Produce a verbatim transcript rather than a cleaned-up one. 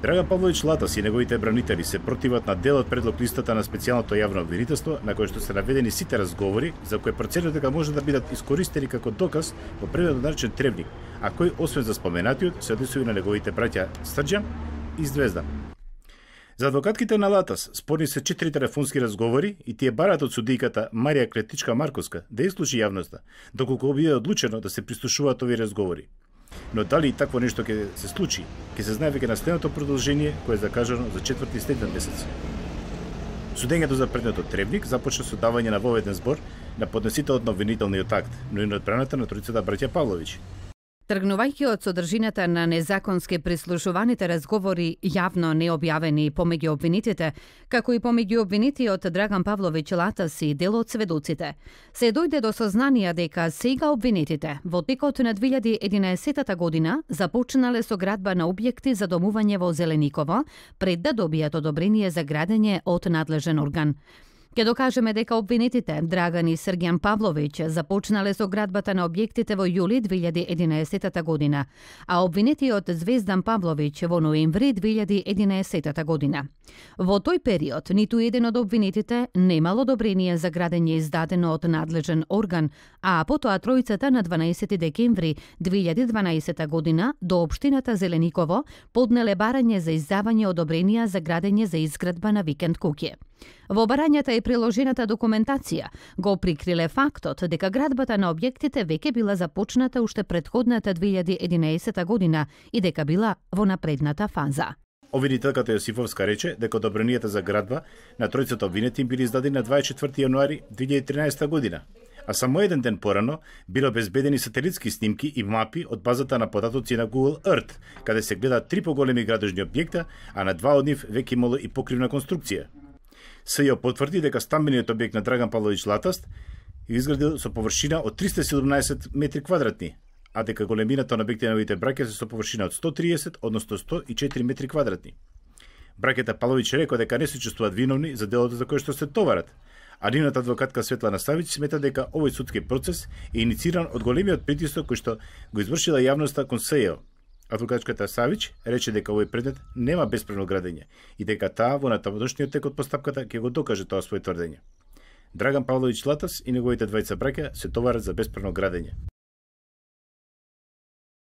Драган Павлович Латас и неговите бранители се противат на дел од предлог листата на специјалното јавно обвинителство, на кој што се наведени сите разговори за кои проценува дека може да бидат искористени како доказ во предметот наречен Требник, а кој освен за споменатиот се однесува на неговите браќа Срđan и Звездан. За адвокатките на Латас спорни се четири телефонски разговори и тие бараат од судијката Марија Клетичка Марковска да изслуши јавноста, доколку биде одлучено да се прислушуваат овие разговори. Но дали и такво нешто ќе се случи, ќе се знае веќе на следното продолжение кое е закажано за четврти следен месец. Судењето за предметот Требник започна со давање на воведен збор на поднесителот на обвинителниот акт, но и на одбраната на тројцата браќа Павловиќ. Тргнувајќи од содржината на незаконски прислушуваните разговори јавно необјавени помеѓу обвинетите, како и помеѓу обвинетиот Драган Павлович Латас и дел од сведоците, се дојде до сознание дека сега обвинетите во текот на две илјади и единаесетта година започнале со градба на објекти за домување во Зелениково пред да добијат одобрение за градење од надлежен орган. Ке докажеме дека обвинетите Драган и Срđan Павловиќ започнале со градбата на објектите во јули две илјади и единаесетта година, а обвинетиот Звездан Павловиќ во ноември две илјади и единаесетта година. Во тој период ниту еден од обвинетите немал одобрение за градење издадено од надлежен орган, а потоа тројцата на дванаесети декември две илјади и дванаесетта година до општината Зелениково поднеле барање за издавање одобренија за градење за изградба на викенд куќе. Во барањата и приложената документација го прикриле фактот дека градбата на објектите веќе била започната уште претходната две илјади и единаесетта година и дека била во напредната фаза. Обвинителката Јосифовска рече дека одобренијата за градба на тројцата обвинети били издадени на дваесет и четврти јануари две илјади и тринаесетта година, а само еден ден порано биле обезбедени сателитски снимки и мапи од базата на податоци на Google Earth, каде се гледаат три поголеми градежни објекта, а на два од нив веќе имало и покривна конструкција. СЈО потврди дека стамбениот објект на Драган Павлович Латас изградил со површина од триста и седумнаесет метри квадратни, а дека големината на објектите на неговите браќа се со површина од сто триесет, односно сто и четири метри квадратни. Браќата Павловиќ рекоа дека не се чувствуваат виновни за делото за кое што се товарат, а нивната адвокатка Светлана Савиќ смета дека овој судски процес е инициран од големиот притисок кој што го извршила јавноста кон СЈО. Адвокатската Савиќ рече дека овој предмет нема бесправно градење и дека таа во натамошниот тек од постапката ќе го докаже тоа своје тврдење. Драган Павлович Латас и неговите двајца браќа се товарат за бесправно градење.